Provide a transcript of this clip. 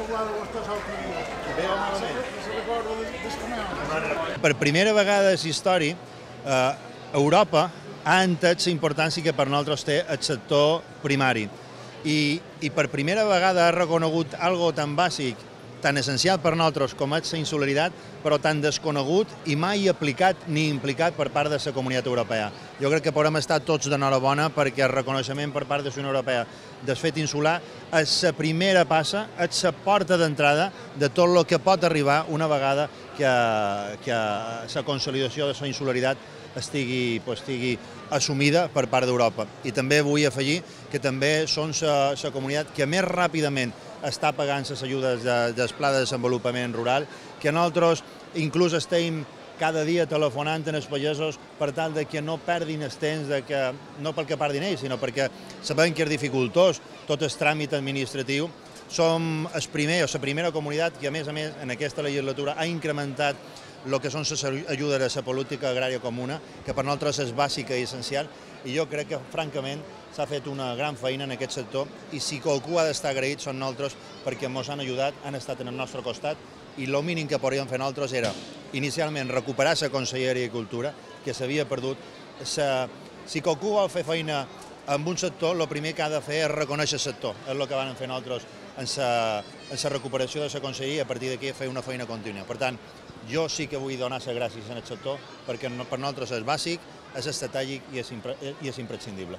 parlar de vostès l'altre dia. Bé o malament? Se recorda del canal. Per primera vegada a la història, Europa ha entès la importància que per nosaltres té el sector primari. I per primera vegada ha reconegut algo tan bàsic, tan essencial per nosaltres com és la insularitat, però tan desconegut i mai aplicat ni implicat per part de la Comunitat Europea. Jo crec que podem estar tots d'enhorabona perquè el reconeixement per part de la Unió Europea del fet insular és la primera passa, és la porta d'entrada de tot el que pot arribar una vegada que la consolidació de la insularitat estigui assumida per part d'Europa. I també vull afegir que també són la comunitat que més ràpidament està pagant les ajudes del Pla de Desenvolupament Rural, que nosaltres inclús estem cada dia telefonant als pagesos per tal que no perdin el temps, no perquè perdin ells, sinó perquè sabem que és dificultós tot el tràmit administratiu. Som la primera comunitat que, a més, en aquesta legislatura ha incrementat el que són les ajudes a la política agrària comuna, que per nosaltres és bàsica i essencial, i jo crec que, francament, s'ha fet una gran feina en aquest sector i si qualcú ha d'estar agraït són nosaltres perquè ens han ajudat, han estat en el nostre costat i el mínim que podríem fer nosaltres era, inicialment, recuperar la Conselleria d'Agricultura, que s'havia perdut. Si qualcú vol fer feina en un sector, el primer que ha de fer és reconèixer el sector. És el que vam fer nosaltres en la recuperació de la Conselleria i a partir d'aquí fer una feina contínua. Per tant, jo sí que vull donar les gràcies al sector perquè per nosaltres és bàsic, és estratègic i és imprescindible.